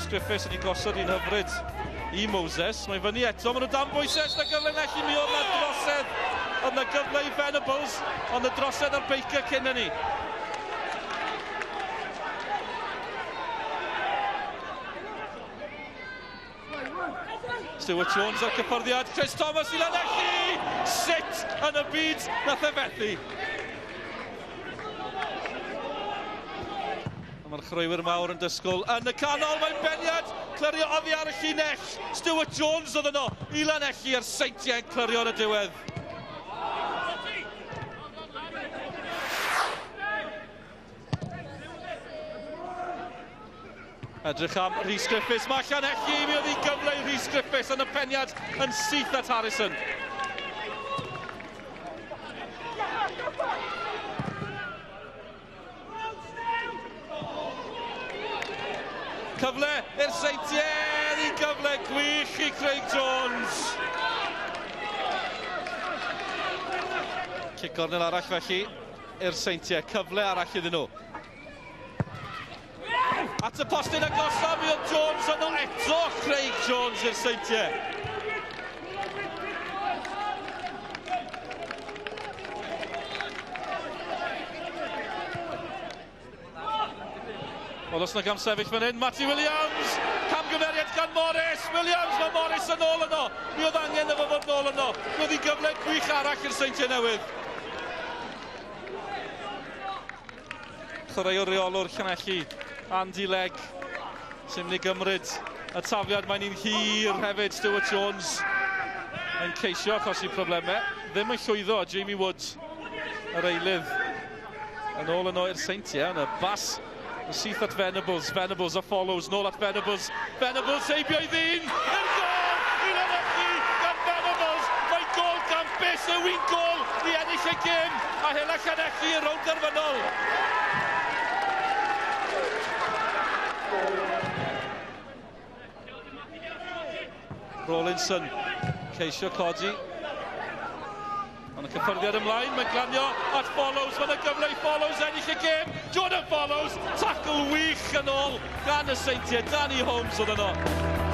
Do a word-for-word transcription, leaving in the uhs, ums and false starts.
Rhys Griffiths wedi gosod un hyfryd i Moses. Mae'n fyny eto, maen nhw dan bwysau, na gyfle Llanelli, mi oedd na drosedd. Oedd na gyfle i Venables, ond y drosedd ar Baker cyn hynny. Stuart Jones ar cyffyrddiad, Chris Thomas i Llanelli! Sut yn y byd nath e fethu? Mae'r chwaraewyr mawr yn dysgwyl yn y canol, mae'n beniad, clirio oddi ar y llinell. Stuart Jones oedd yno i Lanelli a'r Seintiau'n clirio yn y diwedd. Edrych am Rhys Griffiths, mae Llanelli, mi oedd hi gyfle i Rhys Griffiths yn y peniad yn syth at Harrison. Cyfle i'r Seintiau, i gyfle gwych i Craig Jones. Cic gornel arall felly i'r Seintiau, cyfle arall iddyn nhw. At y postyn agosaf, mi oedd Jones yno eto, Craig Jones i'r Seintiau. Wel, os na gam sefyll fan hyn, Matty Williams, camgymeriad gan Morris, Williams, mae Morris yn ôl yno, mi oedd angen efo fod nôl yno, mi oedd hi gyfle gwych arall i'r Seintiau Newydd. Chwaraewr reolwr Llanelli, Andy Legg, sy'n mynd i gymryd y tafiad, mae'n un hir hefyd, Stuart Jones yn ceisio achosi problemau, ddim yn llwyddo, Jamie Wood, yr eilydd, yn ôl yno i'r Seintiau, yn y bas syth at Venables, Venables a Follows, nôl at Venables, Venables heibio i ddyn, i'r gôl, i Llanelli gan Venables, mae gôl gampus, yw'n gôl i ennill y gêm, a hela Llanelli i'r rownd derfynol. Rawlinson, ceisio codi. Ond y cyffyrddiad ymlaen, mae'n glanio at Follows, mae'n y gyfle i Follows ennill y gêm. Jordan Follows, tackle wych yn ôl gan y Seintiau, Danny Holmes oedd yno.